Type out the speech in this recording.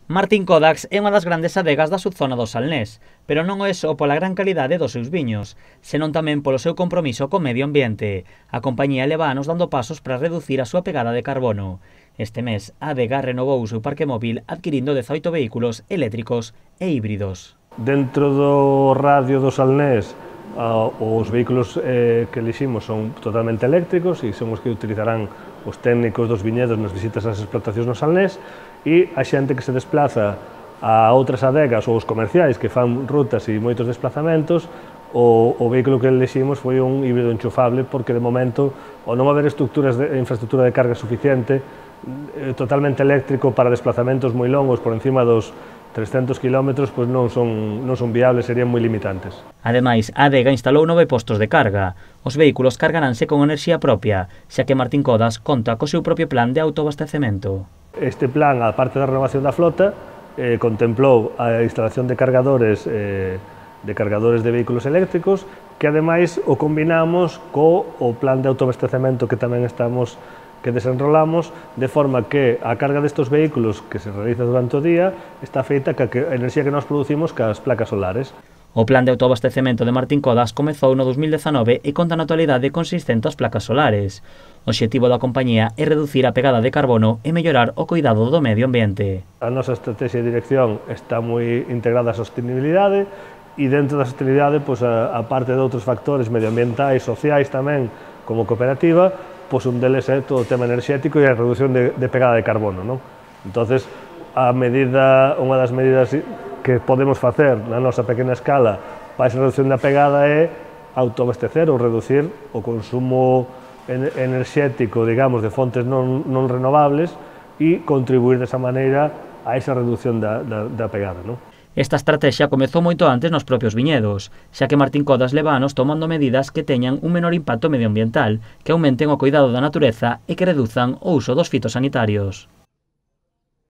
Martín Codax é unha das grandes adegas da subzona do Salnés, pero non é só pola gran calidade dos seus viños, senón tamén polo seu compromiso co medio ambiente. A compañía leva anos dando pasos para reducir a súa pegada de carbono. Este mes, a adega renovou o seu parque móvil adquirindo 18 vehículos eléctricos e híbridos. Dentro do radio do Salnés, os vehículos que eliximos son totalmente eléctricos e son os que utilizarán os técnicos dos viñedos nas visitas ás explotacións no Salnés, e a xente que se desplaza a outras adegas ou os comerciais que fan rutas e moitos desplazamentos, o vehículo que eliximos foi un híbrido enchufable, porque de momento, ao non haber infraestructura de carga suficiente, totalmente eléctrico para desplazamentos moi longos por encima dos 300 km, pois non son viables, serían moi limitantes. Ademais, a adega instalou 9 postos de carga. Os vehículos cargaránse con enerxía propia, xa que Martín Codax conta co seu propio plan de autoabastecemento. Este plan, a parte da renovación da flota, contemplou a instalación de cargadores de vehículos eléctricos, que ademais o combinamos co plan de autoabastecemento que tamén desenrolamos, de forma que a carga destes vehículos que se realiza durante o día está feita ca enerxía que nós producimos cas placas solares. O plan de autoabastecemento de Martín Codax comezou no 2019 e conta na actualidade con 600 placas solares. O obxectivo da compañía é reducir a pegada de carbono e mellorar o cuidado do medio ambiente. A nosa estrategia de dirección está moi integrada á sostenibilidade, e dentro da sostenibilidade, a parte de outros factores medioambientais, sociais tamén, como cooperativa, un deles é todo o tema enerxético e a reducción de pegada de carbono. Entonces, unha das medidas que podemos facer na nosa pequena escala para esa reducción da pegada é autoabastecer ou reducir o consumo enerxético, digamos, de fontes non renovables e contribuir desa maneira a esa reducción da pegada. Esta estrategia comezou moito antes nos propios viñedos, xa que Martín Codax leva anos tomando medidas que teñan un menor impacto medioambiental, que aumenten o cuidado da natureza e que reduzan o uso dos fitosanitarios.